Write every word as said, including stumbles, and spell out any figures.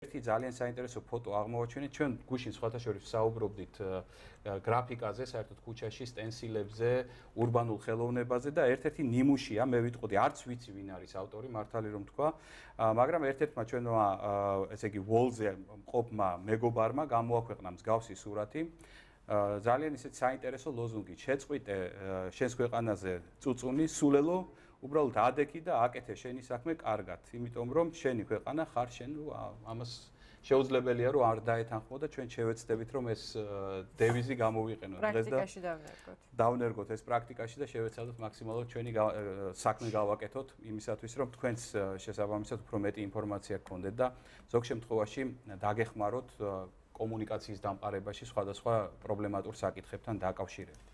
ერთი ძალიან საინტერესო ფოტო აღმოვაჩინეთ ჩვენ გუშინ სხვათა შორის საუბრობდით გრაფიკაზე, საერთოდ ქუჩაში, სტენსილებზე, ურბანულ ხელოვნებაზე და ერთ-ერთი ნიმუშია, მე ვიტყოდი, არც ვიცი ვინ არის ავტორი, მართალი რომ თქვა, მაგრამ ერთ-ერთმა ჩვენმა ესე იგი ვოლზე მყოფმა მეგობარმა გამოაქვეყნა მსგავსი სურათი. ძალიან ისეთ საინტერესო ლოზუნგი შეწყვიტე შენს ქვეყანაზე წუწუნი, სულელო, უბრალოდ ადექი და აკეთე შენი საქმე კარგად, იმიტომ რომ შენი ქვეყანა ხარ შენ, ამას შეუძლებელია რომ არ დაეთანხმო და ჩვენ შევეცდებით რომ ეს დევიზი გამოვიყენოთ დღეს და პრაქტიკაში დავნერგოთ. დავნერგოთ ეს პრაქტიკაში და შევეცადოთ მაქსიმალურად ჩვენი საქმე გავაკეთოთ იმისათვის რომ თქვენს შესაბამისად უფრო მეტი ინფორმაცია გქონდეთ და ზოგ შემთხვევაში დაგეხმაროთ კომუნიკაციის დამყარებაში სხვადასხვა პრობლემატურ საკითხებთან დაკავშირებით.